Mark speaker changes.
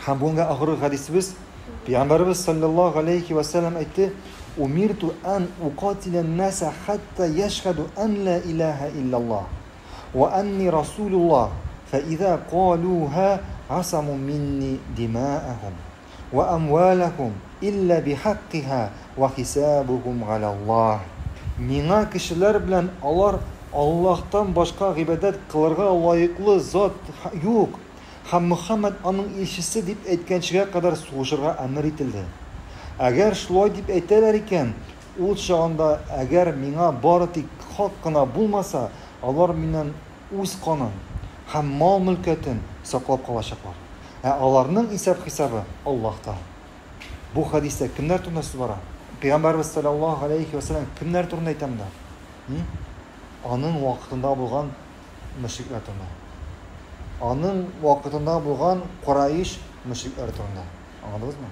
Speaker 1: Һәм бүгенге ахыргы хәдисебез Пәйгамбәребез саллаллаһу алейхи ва сәлләм әйтте: "Умирту ан укатиля наса хатта яшһаду ан ла илаһа иллаллаһ ва анни расулуллаһ, фа иза калуха асаму минни димаахум ва амвалахум илля бихаккиха ва хисабухум галаллаһ". Миңа кешеләр белән алар Аллаһтан башка гыйбадәт кылырга лаеклы зат юк һәм Мөхәммәд аның илчесе дип әйткәнчегә кадәр сугышырга әмер ителде. Әгәр шулай дип әйтәләр икән, ул чагында әгәр миңа бары тик хак кына булмаса, алар миннән үз канын һәм мал-мөлкәтен саклап калачаклар. Ә аларның исәп-хисабы Аллаһта. Бу хәдистә кемнәр турында сүз бара? Пәйгамбәрбез саллаллаһу алейхи ва сәлләм кемнәр турында әйтә монда? Аның вакытында булган мөшрикләр турында. Аның вакытында булган Кураиш мөшрикләре турында. Аңладыгызмы?